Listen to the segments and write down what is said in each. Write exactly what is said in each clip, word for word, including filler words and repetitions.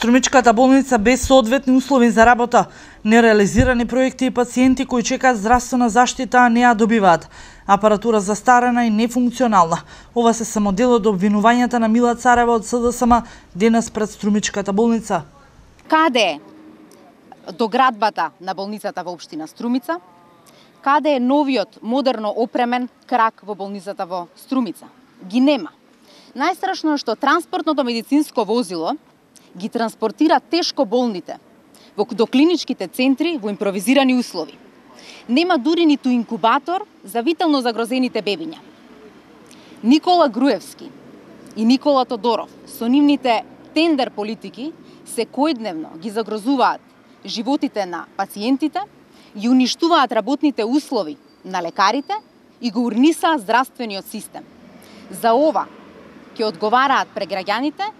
Струмичката болница без соодветни услови за работа, нереализирани проекти и пациенти кои чекаат здравствена заштита, а не ја добиваат. Апаратура застарена и нефункционална. Ова се само дел од обвинувањата на Мила Царева од СДСМ денес пред Струмичката болница. Каде е доградбата на болницата во општина Струмица? Каде е новиот, модерно опремен крак во болницата во Струмица? Ги нема. Најстрашно е што транспортното медицинско возило ги транспортира тешко болните во до клиничките центри во импровизирани услови. Нема дури ниту инкубатор за витално загрозените бебиња. Никола Груевски и Никола Тодоров со нивните тендер политики секојдневно ги загрозуваат животите на пациентите, ги уништуваат работните услови на лекарите и го урнисаат здравствениот систем. За ова ќе одговараат пред граѓаните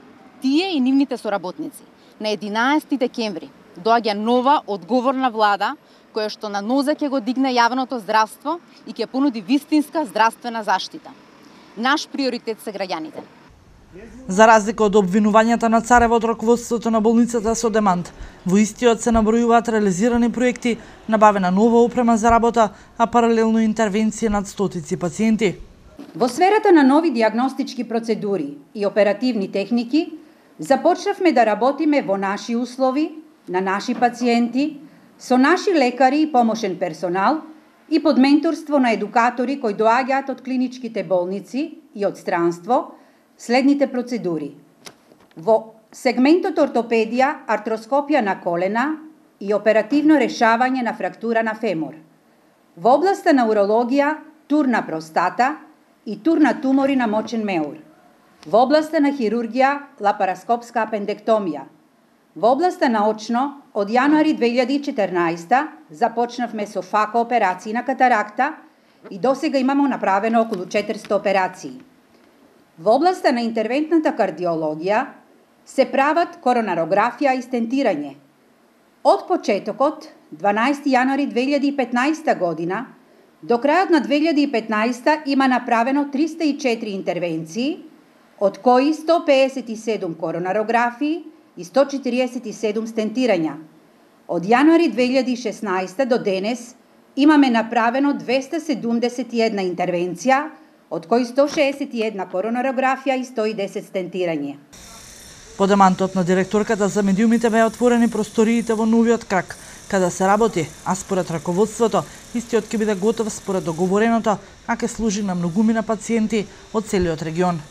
тие и нивните соработници. На единаесети декември доаѓа нова одговорна влада која што на нозе ќе го дигне јавното здравство и ќе понуди вистинска здравствена заштита. Наш приоритет се граѓаните. За разлика од обвинувањата на Царева од раководството на болницата со демант, во истиот се набројуваат реализирани проекти, набавена нова опрема за работа, а паралелно интервенција над стотици пациенти. Во сферата на нови диагностички процедури и оперативни техники, започнавме да работиме во наши услови, на наши пациенти, со наши лекари и помошен персонал и под менторство на едукатори кои доаѓаат од клиничките болници и од странство, следните процедури. Во сегментот ортопедија, артроскопија на колена и оперативно решавање на фрактура на фемор. Во областа на урологија, тур на простата и тур на тумори на мочен меур. Во областа на хирургија, лапароскопска апендектомија. Во областа на очно, од јануари две илјади и четрнаесета започнавме со фако операции на катаракта и досега имамо направено околу четиристо операции. Во областа на интервентната кардиологија се прават коронарографија и стентирање. Од почетокот, дванаесети јануари две илјади и петнаесета година, до крајот на две илјади и петнаесета има направено триста и четири интервенции, од кои сто пеесет и седум коронарографии и сто четириесет и седум стентирања. Од јануари две илјади и шеснаесета до денес имаме направено двеста седумдесет и една интервенција, од кои сто шеесет и една коронарографија и сто и десет стентирање. По демантот на директорката за медиумите беа отворени просториите во новиот крак, каде се работи, а според раководството, истиот ќе биде готов според договореното, а ќе служи на многумина пациенти од целиот регион.